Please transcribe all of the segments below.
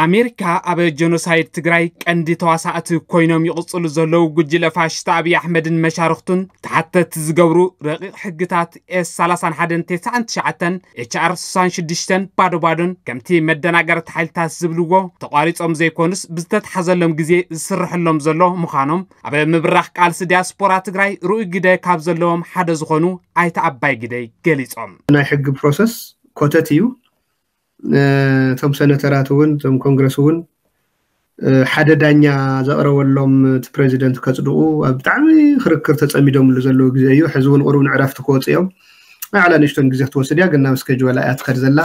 ኣሜሪካ ኣብ ጀኖሳይድ ትግራይ ቀንዲ ተዋሳእቲ ኮይኖም ይቕጽሉ ዘለዉ ጉጅለ ፋሽስት ኣብይ ኣሕመድን መሻርኽቱን ተሓተቲ ዝገብሩ ረቂቕ ሕግታት ኤስ ሰላሳን ሓደን ተስዓን ትሽዓተን ኤች ኣር ስሳን ሽዱሽተን ባዶ ባዶን ከምቲ መደናገርቲ ሓይልታት ዝብልዎ ተቋሪጾም ዘይኮኑስ ብዝተተሓዘሎም ግዜ ዝስርሐሎም ዘሎ ምዃኖም ኣብ ምብራኽ ቃልሲ ዲያስፖራ ትግራይ ርኡይ ግደ ካብ ዘለዎም ሓደ ዝኾኑ ኣይተ ኣባይ ግደይ ገሊጾም። ናይ ሕጊ ፕሮሰስ ኮተት እዩ። እቶም ሰነተራት እውን እቶም ኮንግረስ እውን ሓደ ዳኛ ዘቕረበሎም እቲ ፕሬዚደንት ከፅድቑ ኣብ ብጣዕሚ ክርክር ተፀሚዶምሉ ዘለዉ ግዜ እዩ። ሕዚ እውን ቁሩብ ንዕረፍቲ ክወፁ እዮም። ንዓላ ንእሽቶን ግዜ ክትወስድ እያ፣ ግን ናብ ስኬጅዋላ እያ ትኸድ ዘላ።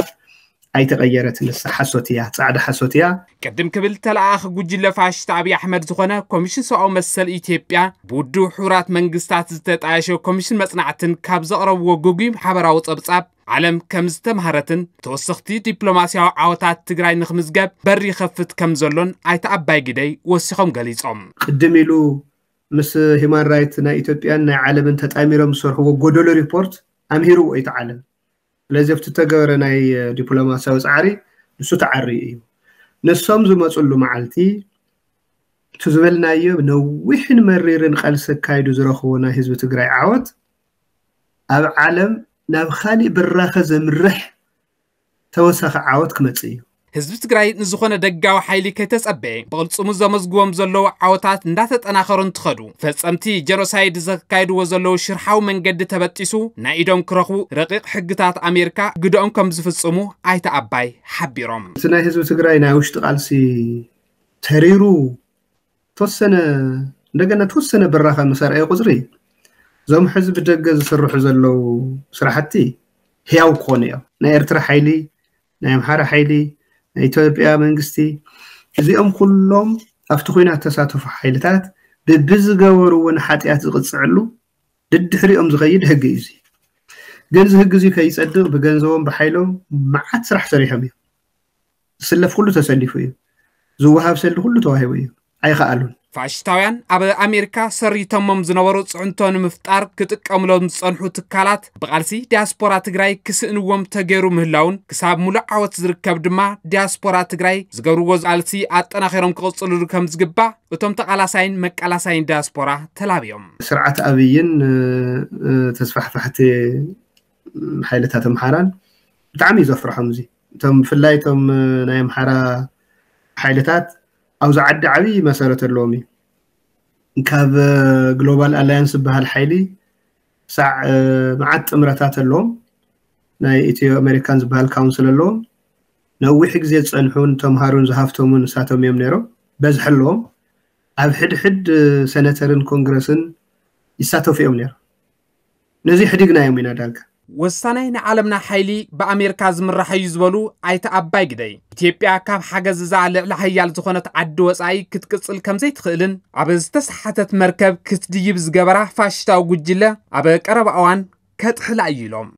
ኣይተቐየረት። ንሳ ሓሶት እያ፣ ፃዕዳ ሓሶት እያ። ቅድም ክብል ተለኣኣኺ ጉጅለ ፋሽስት ኣብይ ኣሕመድ ዝኾነ ኮሚሽን ሰብኣዊ መሰል ኢትዮጵያ ብውድብ ሕቡራት መንግስታት ዝተጣየሸ ኮሚሽን መፅናዕትን ካብ ዘቕረብዎ ግጉይ ሓበራዊ ፀብፃብ ዓለም ከም ዝተምሃረትን ተወሰኽቲ ዲፕሎማስያዊ ዓወታት ትግራይ ንክምዝገብ በር ይኸፍት ከም ዘሎን ኣይተ ኣባይ ግደይ ወሲኾም ገሊጾም። ቅድም ኢሉ ምስ ሂማን ራይት ናይ ኢትዮጵያን ናይ ዓለምን ተጣሚሮም ዝሰርሕዎ ጎደሎ ሪፖርት ኣምሂርዎ እዩ እቲ ዓለም። ስለዚ ኣብቲ ተገበረ ናይ ዲፕሎማስያዊ ፃዕሪ ንሱ ተዓርዩ እዩ። ንሶም ዝመፅሉ መዓልቲ እቲ ዝበልናዮ ነዊሕን መሪርን ቃልሲ ኣካይዱ ዝረኽቦ ናይ ህዝቢ ትግራይ ዓወት ኣብ ዓለም ናብ ካሊእ ብራኸ ዘምርሕ ተወሳኺ ዓወት ክመፅእ እዩ። ህዝቢ ትግራይ ንዝኾነ ደጋዊ ሓይሊ ከይተጸበየ ብቕልጽሙ ዘመዝግቦም ዘለዉ ዓወታት እንዳተጠናኸሩ እንትኸዱ ፈጸምቲ ጀኖሳይድ ዘካይድዎ ዘለዉ ሽርሓዊ መንገዲ ተበጢሱ ናይ ኢዶም ክረኽቡ ረቂቕ ሕግታት ኣሜሪካ ግደኦም ከም ዝፍጽሙ ኣይተ ኣባይ ሓቢሮም። እቲ ናይ ህዝቢ ትግራይ ናይ ውሽጢ ቃልሲ ተሪሩ ተወሰነ እንደገና ተወሰነ ብራኸ ምስ ኣርኣየ ቁፅሪ እዞም ሕዚ ብደገ ዝስርሑ ዘለዉ ስራሕቲ ህያው ክኾኑ እዮም። ናይ ኤርትራ ሓይሊ፣ ናይ ኣምሓራ ሓይሊ፣ ናይ ኢትዮጵያ መንግስቲ እዚኦም ኩሎም ኣብቲ ኲናት ተሳተፉ ሓይልታት ብብዝገበርዎ ንሓጢኣት ዝቕፅዕሉ ድድሕሪኦም ዝኸይድ ህጊ እዩ። እዚ ግን እዚ ህጊ እዚ ከይፀድቕ ብገንዘቦም ብሓይሎም መዓት ስራሕ ሰሪሖም እዮም። ዝስለፍ ኩሉ ተሰሊፉ እዩ። ዝወሃብ ሰልዲ ኩሉ ተዋሂቡ እዩ። ኣይኸኣሉን። ፋሽስታውያን ኣብ ኣሜሪካ ሰሪተሞም ዝነበሩ ፅዕንቶ ንምፍጣር ክጥቀምሎም ዝፀንሑ ትካላት ብቓልሲ ዲያስፖራ ትግራይ ክስእንዎም ተገይሩ ምህላውን ክሳብ ሙሉእ ዓወት ዝርከብ ድማ ዲያስፖራ ትግራይ ዝገብርዎ ቃልሲ ኣጠናኺሮም ክቕፅልሉ ከም ዝግባእ እቶም ተቓላሳይን መቃላሳይን ዲያስፖራ ተላብዮም። ስርዓት ኣብይን ተስፋሕፋሕቲ ሓይልታት ኣምሓራን ብጣዕሚ እዩ ዘፍርሖም። እዚ እቶም ብፍላይ እቶም ናይ ኣምሓራ ሓይልታት ኣብዚ ዓዲ ዓብዪ መሰረት ኣለዎም እዩ። ካብ ግሎባል ኣላያንስ ዝበሃል ሓይሊ ሳዕ መዓት ጥምረታት ኣለዎም። ናይ ኢትዮ ኣሜሪካን ዝበሃል ካውንስል ኣለዎም። ነዊሕ ግዜ ዝፀንሑን ተምሃሩን ዝሃፍተሙን ንሳቶም እዮም ነይሮም። በዝሒ ኣለዎም። ኣብ ሕድሕድ ሰነተርን ኮንግረስን ይሳተፉ እዮም ነይሮም። ነዚ ሕዲግናዮም ኢና ዳርጋ። ወሳናይ ንዓለምና ሓይሊ ብኣሜሪካ ዝምራሕ እዩ ዝበሉ ኣይተ ኣባይ ግደይ፣ ኢትዮጵያ ካብ ሓገዝ እዛ ልዕሊ ሓያል ዝኾነት ዓዲ ወፃኢ ክትቅፅል ከምዘይትኽእልን ኣብ ዝተሰሓተት መርከብ ክትድይብ ዝገበራ ፋሽስታዊ ጉጅለ ኣብ ቀረባ እዋን ከጥሕላ እዩ ኢሎም።